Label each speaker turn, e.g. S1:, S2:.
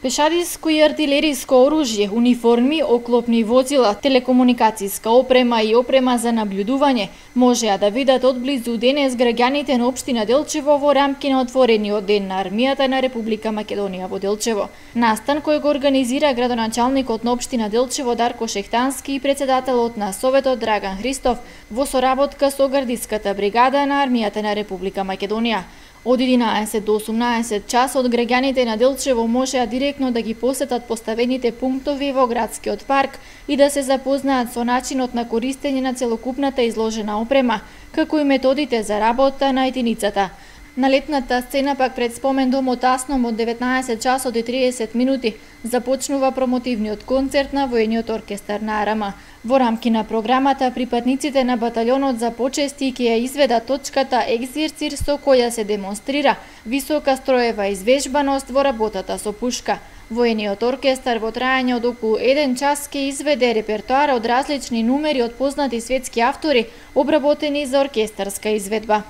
S1: Пешадиско и артилериско оружје, униформи, оклопни возила, телекомуникацијска опрема и опрема за наблюдување можеа да видат одблизу денес граѓаните на општина Делчево во рамки на отворениот ден на армијата на Република Македонија во Делчево. Настан кој го организира градоначалникот на општина Делчево Дарко Шехтански и председателот на Советот Драган Христов во соработка со гардиската бригада на армијата на Република Македонија. Од 11 до 18 часот граѓаните на Делчево можеа директно да ги посетат поставените пунктови во градскиот парк и да се запознаат со начинот на користење на целокупната изложена опрема, како и методите за работа на единицата. На летната сцена пак пред спомен домот Асном од 19 часот и 30 минути започнува промотивниот концерт на воениот оркестар на Арама. Во рамки на програмата припадниците на баталјонот за почести ќе ја изведат точката екзерцир со која се демонстрира висока строева извежбаност во работата со пушка. Воениот оркестар во трајање од околу 1 час ќе изведе репертоар од различни numери од познати светски автори обработени за оркестарска изведба.